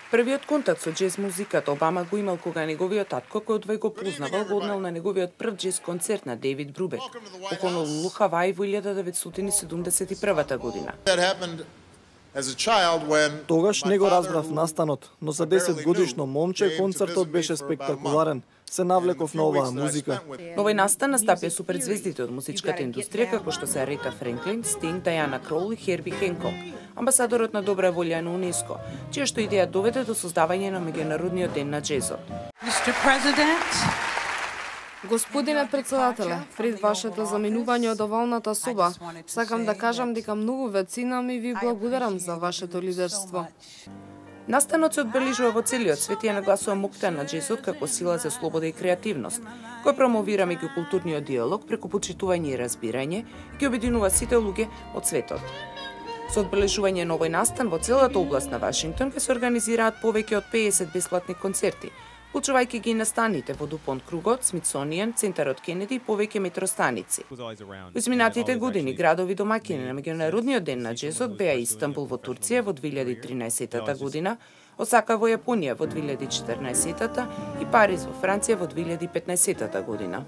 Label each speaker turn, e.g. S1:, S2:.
S1: Првиот контакт со џез музиката Обама го имал кога неговиот татко, кој одвај го познавал, го однел на неговиот прв џез концерт на Дейвид Брубек во Honolulu, Хаваи во 1971 година.
S2: Тогаш не го разбрав настанот, но за 10 годишно момче концертот беше спектакуларен. Се навлеков на оваа музика.
S1: На овој настан настапија суперзвездите од музичката индустрија, како што се Арета Френклин, Стинг, Даяна Кроул и Херби Хенкок, амбасадорот на добра волја на УНЕСКО, чија што идеја доведе до создавање на меѓународниот ден на џезот.
S3: Господине председателе, пред вашето заминување од овалната соба, сакам да кажам дека многу ве ценам и ви благодарам за вашето лидерство.
S1: Настанот се одбележува во целиот свет и ја нагласува моќта на џезот како сила за слобода и креативност, кој промовира меѓукултурниот диалог преку почитување и разбирање и ги обединува сите луѓе од светот. Со одбележување на овој настан во целата област на Вашингтон ќе се организираат повеќе од 50 бесплатни концерти, вклучувајќи ги настаните во Дупонт кругот, Смитсонијан, Центарот Кенеди и повеќе метростаници. Во изминатите години градови домаќини на меѓународниот ден на џезот беа Истанбул во Турција во 2013 година, Осака во Јапонија во 2014 и Париз во Франција во 2015 година.